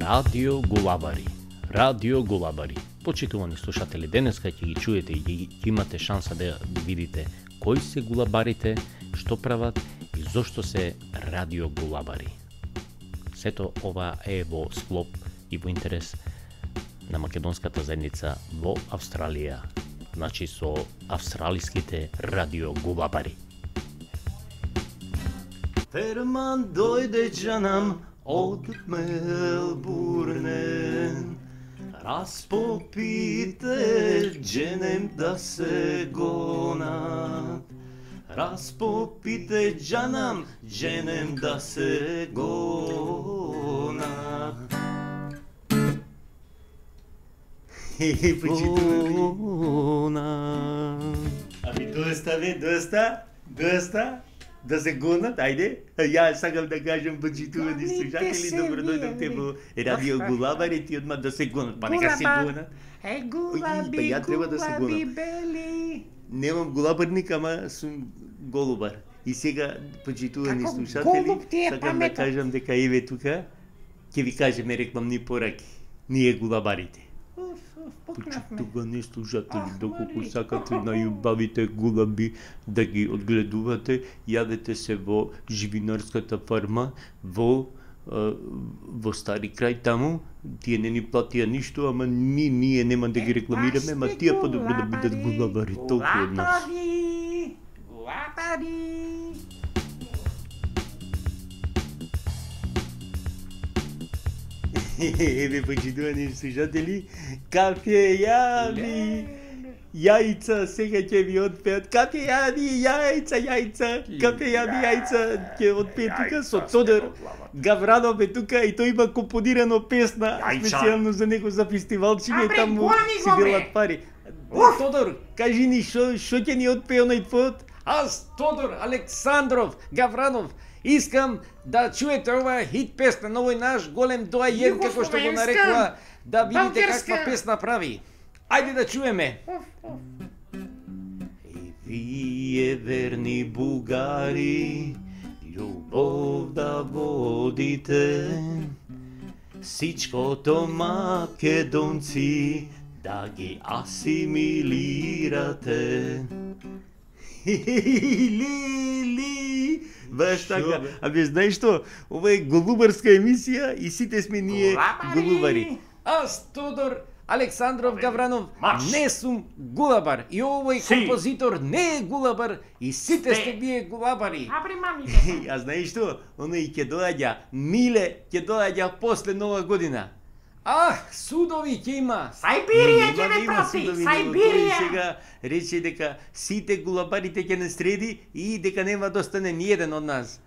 Радио Гулабари. Радио Гулабари. Почитувани слушатели, денеска ќе ги чуете и ќе имате шанса да видите кои се гулабарите, што прават и зошто се Радио Гулабари. Сето ова е во склоп и во интерес на македонската заедница во Австралија, значи со австралиските Радио Гулабари. Ферман дојде џанам од Мелбурне, распопите џенем да се гонат. Распопите џанам џенем да се гонат. Ами доста бе, доста. Да се гонат, ајде. Ја сакам да кажам почитувани слушатели, добро дојдовте во Радио Гулабари, ти одма да се гонат, па нека се гонат. Гулаби, ја треба да се гулаби, гонам. бели. Немам гулабарник, ама сум голубар. И сега почитувани Како слушатели, голуб ти е сакам да паметот. кажам дека еве тука ќе ви кажеме рекламни пораки. Ние гулабарите. Пукнавме. Почитувани слушатели, Ах, доколку Мари, сакате најубавите гулаби да ги одгледувате, јавете се во живинарската фарма во Стари крај таму. Тие не ни платија ништо, ама ние нема да ги рекламираме, ама тие подобро да бидат гулабари, толку од нас. Гулабари. Еве, почитувани слушатели, кафејани, јајца, сега ќе ви отпеат, кафејани, јајца, кафејани, јајца, ќе отпеат тука со Тодор Гавранов е тука и тој има компонирано песна, специјално за него за фестивалчиње, Абре, таму гони си го, бе. делат пари. Тодор, кажи ни што ќе ни отпее оној пот? Аз, Тодор Александров Гавранов, искам да чуете оваа хит песна на овој наш голем доајен, како што го Југословенска, нарекува, да видите българска. каква песна прави. Ајде да чуеме. И вие верни бугари, љубов да водите, сичкото македонци да ги асимилирате. Лили, баш така. Абе, знаеш што? Ова е голубарска емисија и сите сме ние голубари. Аз, Тодор Александров Гавранов, не сум гулабар и овој композитор не е гулабар и сите сте вие гулабари. Абре, мами. А знаеш што? Оној ќе доаѓа, Миле ќе доаѓа после Нова година. Ах, судови ќе има. Сајбирија ќе Нема да ме има прати, судови, но тој Сајбирија. сега рече дека сите гулабарите ќе не среди и дека нема да остане ниеден од нас.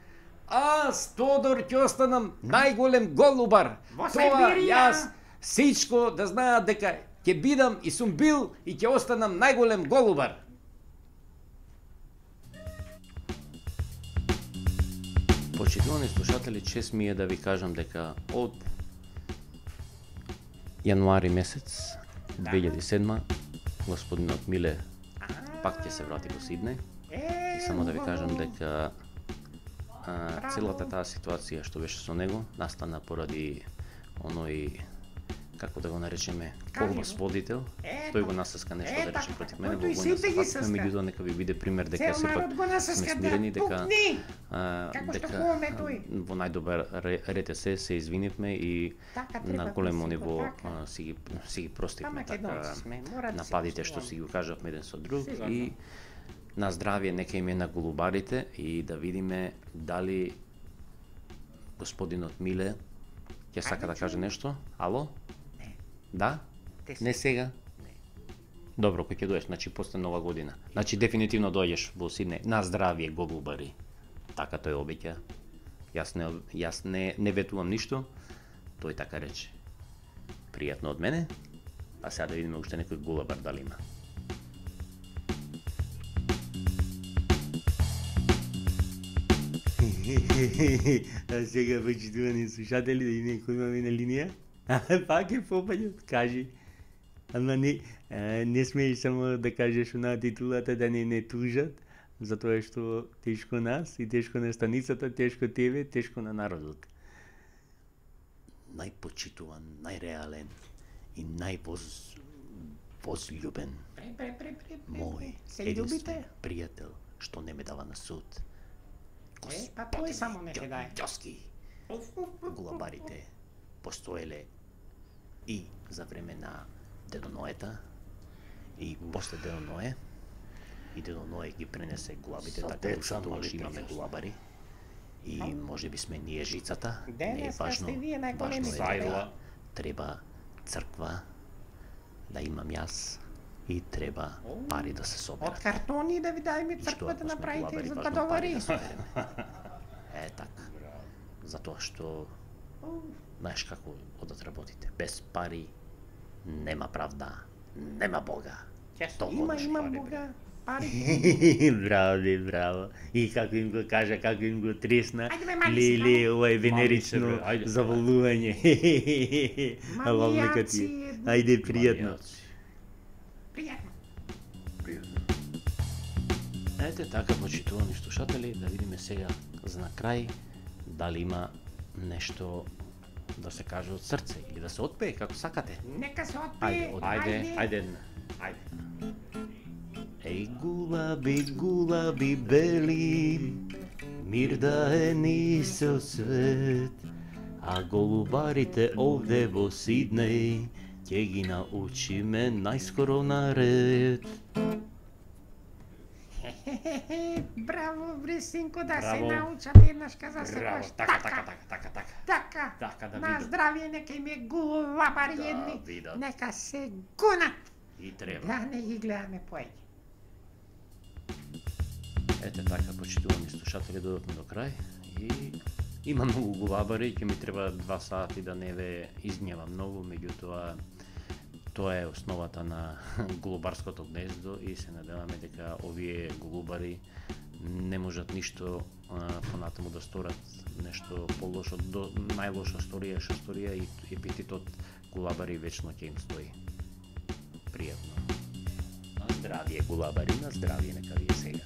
Аз, Тодор, ќе останам најголем голубар. Во Тоа Сајбирија. јас сичко да знаат дека ќе бидам и сум бил и ќе останам најголем голубар. Почитувани слушатели, чест ми е да ви кажам дека од јануари месец 2007 господинот Миле пак ќе се врати во Сиднеј. И само да ви кажам дека целата таа ситуација што беше со него настана поради оној, како да го наречеме, колбас водител. Тој го насаска нешто да рече така, против мене во тој војна сите ги стапка, саска. меѓутоа нека ви биде пример дека Цел сепак народ го насаска сме да смирени, дека пукни. Како што хубаво ме тој. во најдобар ред се извинивме и Така треба на да големо се ниво така. си ги Па простивме македонци сме, мора да се нападите што почуваме. си го кажавме еден со друг Сигурно. и на здравје нека им е на голубарите и да видиме дали господинот Миле ќе сака да каже нешто. Ало? Не. Да? Те Не сега? Добро, кој ќе доеш, значи после Нова година. Значи дефинитивно дојдеш во Сиднеј. На здравје, голубари. Така тој обеќа. Јас не ветувам ништо. Тој така рече. Пријатно од мене. А сега да видиме уште некој голубар дали има. А сега почитувани слушатели, да видиме кој имаме на линија. Пак е попаѓот, кажи. Ама не смееш само да кажеш на титулата да не тужат, затоа што тешко нас и тешко на станицата, тешко тебе, тешко на народот. најпочитуван, најреален и највозљубен мој Се единствен љубите? пријател, што не ме дава на суд. Па тој само не те даде. Ѓоски, гулабарите постоеле и за време на Дедо Ноета и после Дедо Ное. И Дедо Ное ги пренесе гулабите, така што тогаш имаме гулабари. И може би сме ние жицата, не е Денеска важно, сте вие најголеми важно е зајла. дека треба црква да имам јас и треба пари да се Од соберат. картони да ви дајме И што црква ако да сме направите гулабари, за важно бадовари. пари да собереме. Така. Затоа што знаеш како одат работите. Без пари нема правда, нема Бога. Има Бога, пари. Браво, бе, браво. И како им го кажа, како им го тресна. Ајде, бе, мали Леле, се, ова е Мали се, венерично бре, ајде. заволување. Лавлека ти. Манијаци. Ајде, пријатно. Пријатно. Ете така, почитувани слушатели, да видиме сега за на крај дали има нешто да се каже од срце или да се отпее како сакате. Нека се Ајде, отпее. ајде. Еј, гулаби, гулаби бели, мир да е нисел свет, а голубарите овде во Сиднеј ќе ги научиме најскоро на ред. Браво, бре, синко, да се Браво. научат еднаш каза се Браво, баш. така. Така. Така да На видам. здравје, нека им е гулабари Да едни. видат. Нека се гунат. И треба. Да не ги гледаме поеќе. Ете така, почитувани слушатели, додовме до крај и има многу гулабари, ќе ми треба 2 сати да не ве изгневам многу, меѓутоа тоа е основата на голубарското гнездо и се надеваме дека овие голубари не можат ништо понатаму да сторат нешто полошо, до најлоша сторија што сторија и епитетот гулабари вечно ќе им стои. Пријатно. На здравје, гулабари, на здравје, нека ви е сега.